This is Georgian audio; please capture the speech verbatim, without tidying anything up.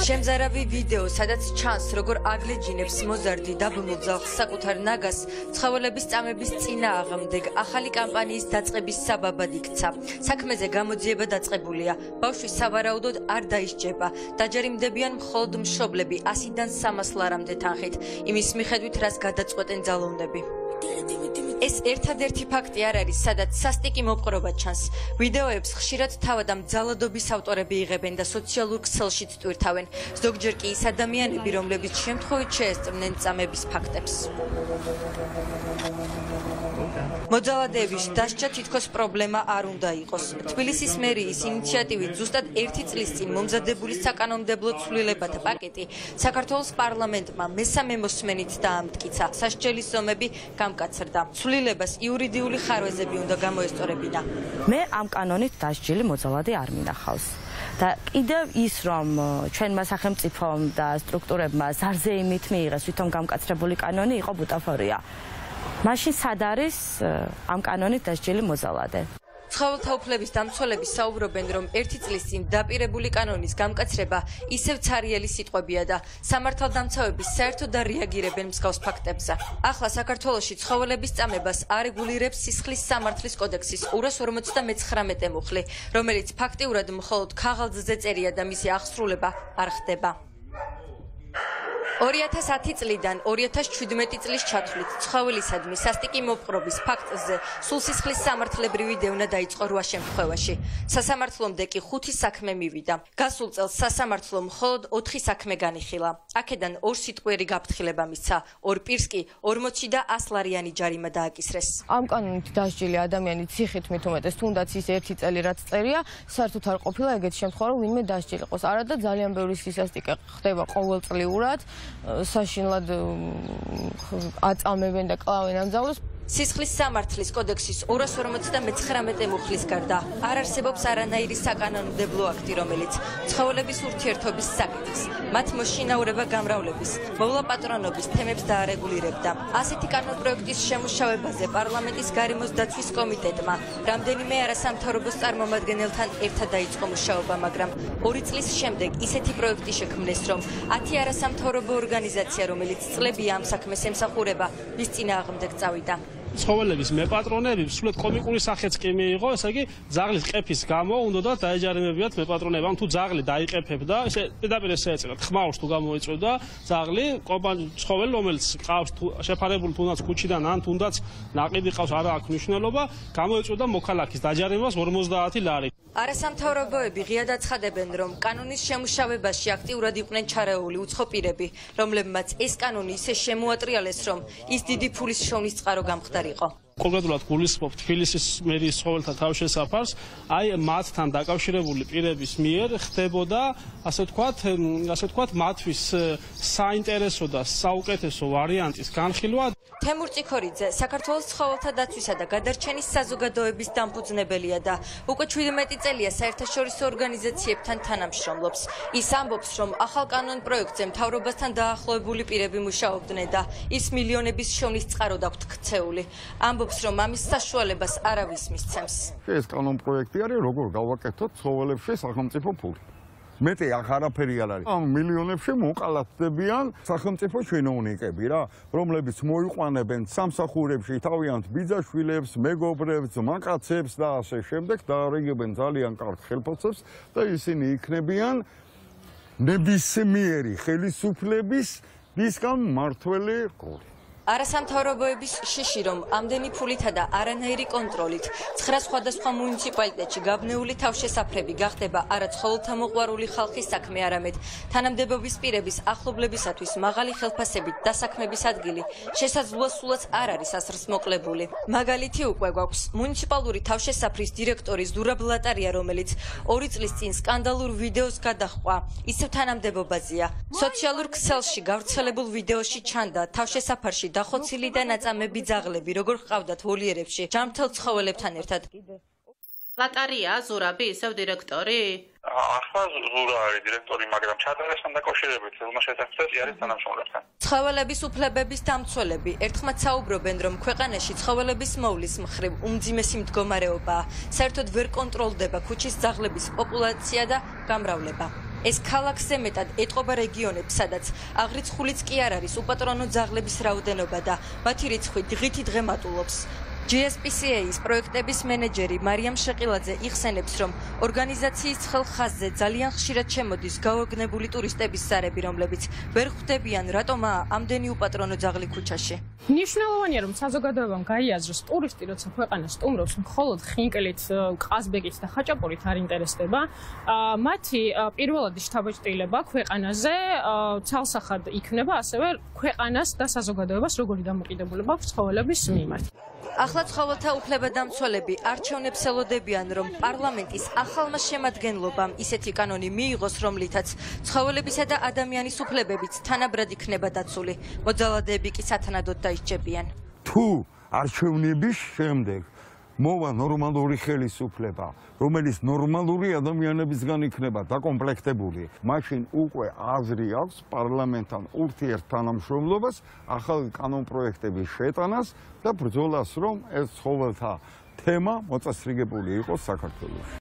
შემზარავი ვიდეო, სადაც ჩანს, როგორ აგლეჯინებს მოზარდი დაბმულ ძაღლს საკუთარ ნაგას, ცხოველების წამების წინააღმდეგ ახალი კამპანიის დაწყების საბაბად იქცა. საქმეზე გამოძიება დაწყებულია. ბავშვი სავარაუდოდ არ დაისჯება. დაჯერიმდებიან მხოლოდ მშობლები ასიდან სამას ლარამდე თანხით, იმის მიხედვით, რას გადაწყვეტენ ძალოვნები. ეს ერთადერთი ფაქტი არ არის, სადაც სასტიკი მოპყრობა ჩანს. ვიდეოებს ხშირად თავად ამ ძალადობის ავტორები იღებენ და სოციალურ ქსელშიც ტვირთავენ. ზოგჯერ კი ის ადამიანები, რომლებიც შემთხვევით შეესწრნენ წამების ფაქტებს. მოძალადეების დასჯა თითქოს პრობლემა არ უნდა იყოს. თბილისის მერიის ინიციატივით ზუსტად ერთი წლის წინ მომზადებული საკანონმდებლო ცვლილებათა პაკეტი საქართველოს პარლამენტმა მესამე მოსმენით დაამტკიცა. სასჯელის ზომები გამკაცრდა. ცვლილებას იურიდიული ხარვეზები უნდა გამოესწორებინა. მე ამ კანონით დასჯილი მოძალადე არ მინახავს. და კიდევ ის, რომ ჩვენმა სახელმწიფომ და სტრუქტურებმა ზარზეიმით მიიღეს თვითონ გამკაცრებული კანონი, იყო ბუტაფორია. მაშინ სად არის ამ კანონით დასჯილი მოძალადე? ცხოველთა უფლების დამცველები საუბრობენ, რომ ერთი წლის წინ დაპირებული კანონის გამკაცრება ისევ ცარიელი სიტყვებია და სამართალდამცავები საერთოდ არ რეაგირებენ მსგავს ფაქტებზე. ახლა საქართველოში ცხოველების წამებას არეგულირებს სისხლის სამართლის კოდექსის ორას ორმოცდამეცხრამეტე მუხლი, რომელიც ფაქტიურად მხოლოდ ქაღალდზე წერია და მისი აღსრულება არ ხდება. ორი ათას ათი წლიდან ორი ათას ჩვიდმეტი წლის ჩათვლით ცხოველისადმი სასტიკი მოპყრობის ფაქტზე სულ სისხლის სამართლებრივი დევნა დაიწყო რვა შემთხვევაში. სასამართლომდე კი ხუთი საქმე მივიდა. გასულ წელს სასამართლომ მხოლოდ ოთხი საქმე განიხილა. აქედან ორ სიტყვიერი გაფრთხილება მისცა, ორ პირს კი ორმოცი და ასლარიანი ჯარიმა დააკისრეს. ამ კანონით დასჯილი ადამიანი ციხით მით უმეტეს, თუნდაც ის ერთი წელი რაც წერია, საერთოდ არ ყოფილა ეგეთი შემთხვევა, რომ ვინმე დასჯილიყოს. არადა ძალიან ბევრი სისასტიკე ხდება ყოველწლიურად. საშინლად აწამებენ და კლავენ ამ ძაღლებს. სისხლის სამართლის კოდექსის ორას ორმოცდამეცხრამეტე მუხლის გარდა არ არსებობს არანაირი საკანონმდებლო აქტი, რომელიც ცხოველების ურთიერთობის საკითხს, მათ მოშინაურება გამრავლების, მოვლაპატრონობის თემებს დაარეგულირებდა. ასეთი კანონპროექტის შემუშავებაზე პარლამენტის გარემოს დაცვის კომიტეტმა რამდენიმე არასამთავრობო წარმომადგენელთან ერთად დაიწყო მუშაობა, მაგრამ ორი წლის შემდეგ ისეთი პროექტი შექმნეს, რომ ათი არასამთავრობო ორგანიზაცია, რომელიც წლებია ამ საქმეს ემსახურება, მის წინააღმდეგ წავიდა. ცხოველების მეპატრონები სულ კომიკური სახეც კი მიიღო, ესე იგი ძაღლის ყეფის გამო უნდა დაეჯარიმებიათ მეპატრონებამ. თუ ძაღლი დაიყეფებდა, ესე პირდაპირ ესეეწერა, ხმაურს თუ გამოიწვევდა ძაღლი, ცხოველი, რომელიც ყავს შეფარებული თუნდაც ქუჩიდან ან თუნდაც ნაყიდი ყავს, არა აქვს მნიშვნელობა, გამოიწვევდა მოქალაქის დაჯარიმებას ორმოცდაათი ლარი. არასამთავრობოები ღიად აცხადებენ, რომ კანონის შემუშავებაში აქტიურად იყვნენ ჩარეული უცხო პირები, რომლებმაც ეს კანონი ისე შემოატრიალეს, რომ ის დიდი ფულის შოვნის წყარო გამხდარიყო. კონკრეტულად გულისხმობ თბილისის მერიის ცხოველთა თავშესაფარს, აი მათთან დაკავშირებული პირების მიერ ხდებოდა, ასე ვთქვათ, ასე ვთქვათ, მათთვის საინტერესო და საუკეთესო ვარიანტის განხილვა. თემურ წიქორიძე საქართველოს ცხოველთა დაცვისა და გადარჩენის საზოგადოების დამფუძნებელია და უკვე ჩვიდმეტი წელია საერთაშორისო ორგანიზაციებთან თანამშრომლობს. ის ამბობს, რომ ახალ კანონპროექტზე მთავრობასთან დაახლოებული პირები მუშაობდნენ და ის მილიონების შოვნის წყაროდ აქვთ ქცეული. ამბობს, რომ ამის საშუალებას არავის მისცემს. ეს კანონპროექტი არის, როგორ გავაკეთოთ ცხოველებში სახელმწიფო ფული. მეტი ახ არაფერი არ არის. ამ მილიონებში მოყალატდებიან სახელმწიფო чиновникები რა, რომლებიც მოიყვანებენ სამსახურებში თავიანთ ბიძაშვილებს, მეგობრებს, მაკაცებს და ასე შემდეგ და არიგებენ ძალიან კარგ ხელფასებს და ისინი იქნებიან ნებისმიერი ხელისუფლების მისგან მართველი ყური. არასამთავრობოების შიში, რომ ამდენი ფულითა და არანაირი კონტროლით ცხრა სხვადასხვა მუნიციპალიტეტში გაბნეული თავშესაფრები გახდება არა ცხოველთა მოყვარული ხალხის საქმე, არამედ თანამდებობის პირების ახლობლებისათვის მაღალი ხელფასებით დასაქმების ადგილი შესაძლოა სულაც არ არის ასრს მოკლებული. მაგალითი უკვე გვაქვს მუნიციპალური თავშესაფრის დირექტორი ზურაბ ლატარია, რომელიც ორი წლის წინ სკანდალურ ვიდეოს გადაჰყვა, ისევ თანამდებობაზეა. სოციალურ ქსელში გავრცელებულ ვიდეოში ჩანდა თავშესაფარში დახოცილი და ნაწამები ძაღლები, როგორ ჰყავდათ ვოლიერებში ჯანმრთელ ცხოველებთან ერთად. ლატარია ზურაბი ისევ დირექტორი? ახლა ზურა არის დირექტორი, მაგრამ ჩატარესთან დაკავშირებით ელმაშეთახტელი არის თანამშრომლებთან. ცხოველების უფლებების დამცველები ერთხმად საუბრობენ, რომ ქვეყანაში ცხოველების მოვლის მხრივ უმძიმესი მდგომარეობაა. საერთოდ ვერ კონტროლდება ქუჩის ძაღლების პოპულაცია და გამრავლება. ეს ქალაქზე მეტად ეტყობა რეგიონებს, სადაც აღრიცხულიც კი არ არის უპატრონო ძაღლების რაოდენობა და მათი რიცხვი დღითი დღე მატულობს. ჯი ეს პი სი ეის პროექტების მენეჯერი მარიამ შეყილაძე იხსენებს, რომ ორგანიზაციის ცხელ ხაზზე ძალიან ხშირად შემოდის გაოგნებული ტურისტების ზარები, რომლებიც ვერ ხვდებიან, რატომაა ამდენი უპატრონო ძაღლი ქუჩაში. მნიშვნელოვანია, რომ საზოგადოებამ გაიაზროს, ტურისტი როცა ქვეყანას სტუმრობს, მხოლოდ ხინკლით, ყაზბეგით და ხაჭაპურით არ ინტერესდება. მათი პირველადი შთაბეჭდილება ქვეყანაზე ცალსახად იქნება, ასევე ქვეყანას და საზოგადოებას როგორი დამოკიდებულება აქვს ცხოველების მიმართ. ახლა ცხოველთა უფლებადამცველები არჩევნებს ელოდებიან, რომ პარლამენტის ახალმა შემადგენლობამ ისეთი კანონი მიიღოს, რომლითაც ცხოველებისა და ადამიანის უფლებებიც თანაბრად იქნება დაცული. მოძალადეები კი სათანადოდ დაისჯებიან. თუ არჩევნების შემდეგ მოვა ნორმალური ხელისუფლება, რომელიც ნორმალური ადამიანებისგან იქნება დაკომპლექტებული, მაშინ უკვე აზრი აქვს პარლამენტთან ურთიერთთანამშრომლობას, ახალი კანონპროექტების შეტანას და ბრძოლას, რომ ეს ცხოველთა თემა მოწესრიგებული იყოს საქართველოში.